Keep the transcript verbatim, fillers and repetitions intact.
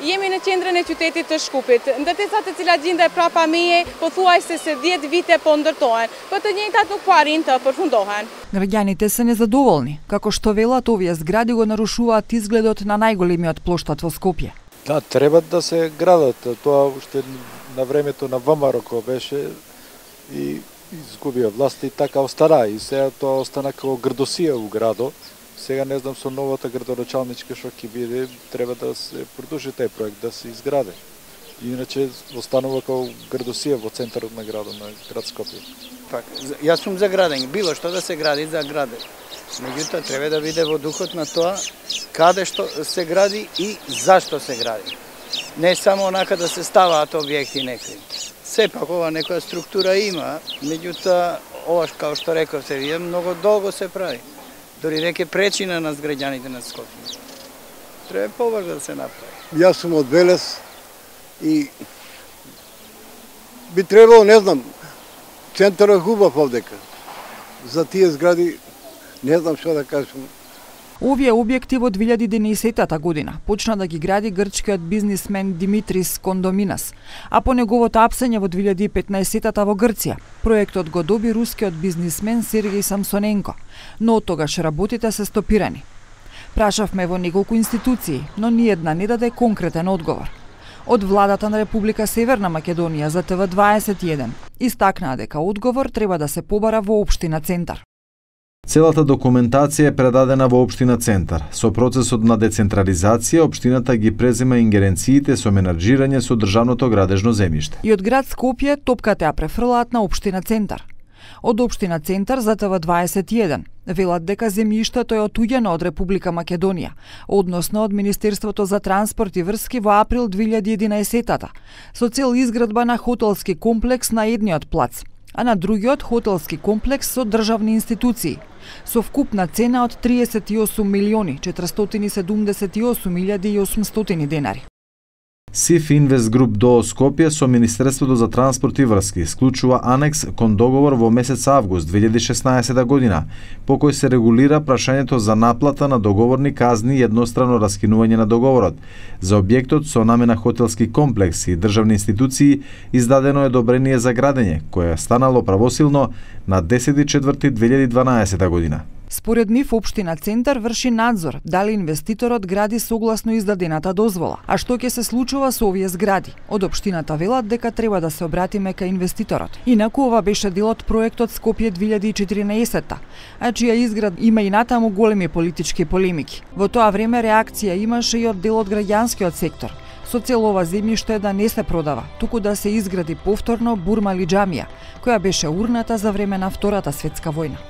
Jemi në qendrën e qytetit të Shkupit. Ndërtesat e cilat gjenden prapa meje pothuajse se dhjetë vite po ndërtohen, por të njëjtat nuk po arrin të përfundohen. Граѓаните се незадоволни, како што велат овие згради го нарушуваат изгледот на најголемиот плоштад во Скопје. Да, треба да се градат. Тоа уште на времето на ВМРО беше и изгубија власт и така остана. И сега тоа остана како грдосија у градо. Сега не знам со новата градоначалничка што ќе биде, треба да се продолжи тај проект, да се изграде. Иначе останува како градосија во центарот на градот на град Скопје. Пак, јас сум за градење, било што да се гради за граде. Меѓутоа треба да биде во духот на тоа каде што се гради и зашто се гради. Не само онака да се ставаат објекти некои. Сепак ова некоја структура има, меѓутоа ова како што рековте вие многу долго се прави. Дори реке пречи на нас граѓаните на Скопје. Треба побрзо да се направи. Јас сум од Велес и би требало, не знам, центарот хубав овдека. За тие згради не знам што да кажам. Овие објекти во две илјади и единаесетта година почна да ги гради грчкиот бизнисмен Димитрис Кондоминас, а по неговото апсење во две илјади и петнаесетта во Грција, проектот го доби рускиот бизнисмен Сергеј Самсоненко, но од тогаш работите се стопирани. Прашавме во неколку институции, но ниедна не даде конкретен одговор. Од владата на Република Северна Македонија за Т В дваесет и еден истакнаа дека одговор треба да се побара во општина Центар. Целата документација е предадена во општина Центар. Со процесот на децентрализација, општината ги презема ингеренциите со менаџирање со државното градежно земјиште. И од град Скопје топката ја префрлаат на општина Центар. Од општина Центар за Т В дваесет и еден велат дека земјиштето е отуѓено од Република Македонија, односно од Министерството за транспорт и врски во април две илјади и единаесетта, со цел изградба на хотелски комплекс на едниот плац, а на другиот хотелски комплекс со државни институции, со вкупна цена од триесет и осум милиони четиристотини седумдесет и осум илјади и осумстотини денари. СИФ Инвест Груп ДОО Скопје со Министерството за транспорт и врски исклучува анекс кон договор во месец август две илјади и шеснаесетта година, по кој се регулира прашањето за наплата на договорни казни и еднострано раскинување на договорот. За објектот со намена хотелски комплекс и државни институции издадено е одобрение за градење, кое е станало правосилно на десети четврти две илјади и дванаесетта година. Според нив, општина Центар врши надзор дали инвеститорот гради согласно издадената дозвола. А што ќе се случува со овие згради? Од општината велат дека треба да се обратиме кај инвеститорот. Инаку ова беше дел од проектот Скопје две илјади и четиринаесетта, а чија изград има и натаму големи политички полемики. Во тоа време реакција имаше и од дел од граѓанскиот сектор, со цел ова земјиште да не се продава, туку да се изгради повторно Бурмали џамија, која беше урната за време на Втората светска војна.